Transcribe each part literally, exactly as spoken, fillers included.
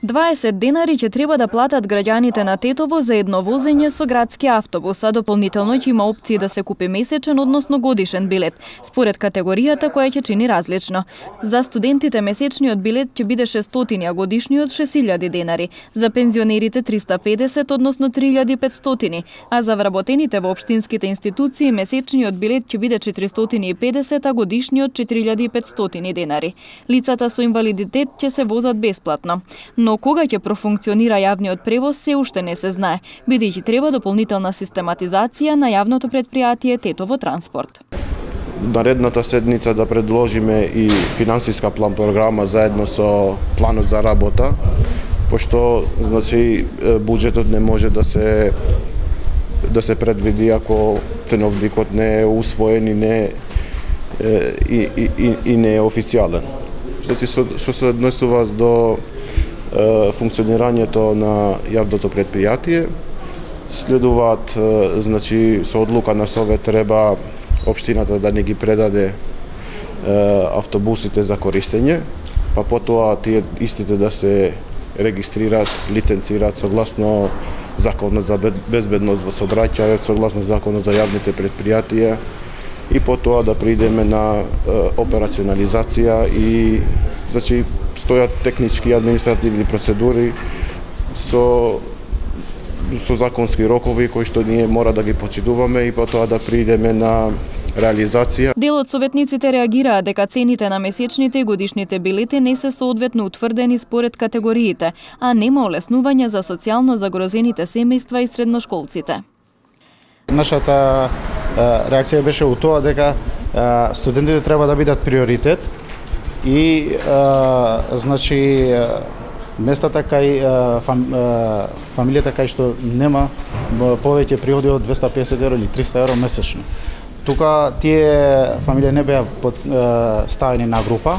дваесет денари ќе треба да платат граѓаните на Тетово за едно возење со градски автобус, а дополнително ќе има опции да се купи месечен, односно годишен билет, според категоријата која ќе чини различно. За студентите месечниот билет ќе биде шестстотини, а годишниот шест илјади денари, за пензионерите триста и педесет, односно три илјади и петстотини, а за вработените во општинските институции месечниот билет ќе биде четиристотини и педесет, а годишниот четири илјади и петстотини денари. Лицата со инвалидитет ќе се возат бесплатно. Но кога ќе профункционира јавниот превоз се уште не се знае, бидејќи треба дополнителна систематизација на јавното предпријатие Тетово транспорт. Наредната седница да предложиме и финансиска план програма заедно со планот за работа, пошто значи буџетот не може да се да се предвиди ако ценовникот не е усвоен и не и и и, и не е официјален. Значи што се однесува до функционирањето на јавното предпријатие, следуваат, значи, со одлука на Совет треба општината да не ги предаде автобусите за користење, па потоа тие истите да се регистрираат, лиценцираат согласно Законот за безбедност во сообраќајот, согласно Законот за јавните предпријатија и потоа да придеме на операционализација и, значи, стојат технички и административни процедури со со законски рокови кои што ние мора да ги почитуваме и потоа да придеме на реализација. Дел од советниците реагираа дека цените на месечните и годишните билети не се соодветно утврдени според категориите, а нема олеснување за социјално загрозените семејства и средношколците. Нашата реакција беше у тоа дека студентите треба да бидат приоритет и а, значи местата кај фам, фамилијата кај што нема повеќе приходи од двеста и педесет евро или триста евро месечно. Тука тие фамилии не беа ставени на група,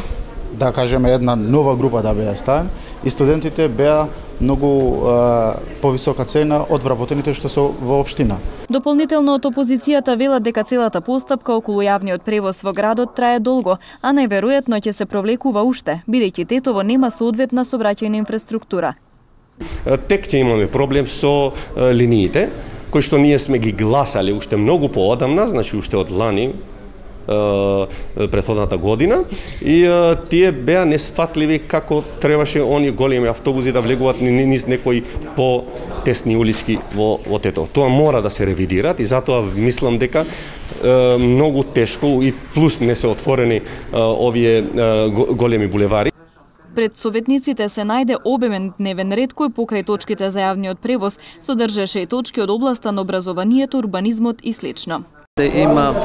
да кажеме една нова група да беа ставени и студентите беа многу а, повисока цена од вработените што се во општина. Дополнително од опозицијата велат дека целата постапка околу јавниот превоз во градот трае долго, а најверојатно ќе се провлекува уште, бидејќи Тетово нема соодветна сообраќајна инфраструктура. Тек ќе имаме проблем со линиите, кои што ние сме ги гласали уште многу поодамна, значи уште од лани, претходната година, и а, тие беа несфатливи како требаше оние големи автобуси да влегуваат низ некои по-тесни улички во, во Тетово. Тоа мора да се ревидират и затоа мислам дека е, многу тешко и плюс не се отворени е, овие е, големи булевари. Пред советниците се најде обемен дневен ред кој покрај точките за јавниот превоз содржеше и точки од областа на образованието, урбанизмот и слично. Има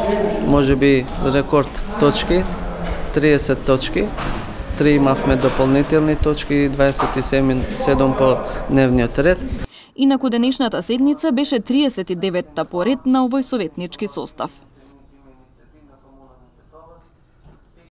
можеби рекорд точки, триесет точки, три имавме дополнителни точки, дваесет и седум по дневниот ред. Инаку денешната седница беше триесет и деветта по ред на овој советнички состав.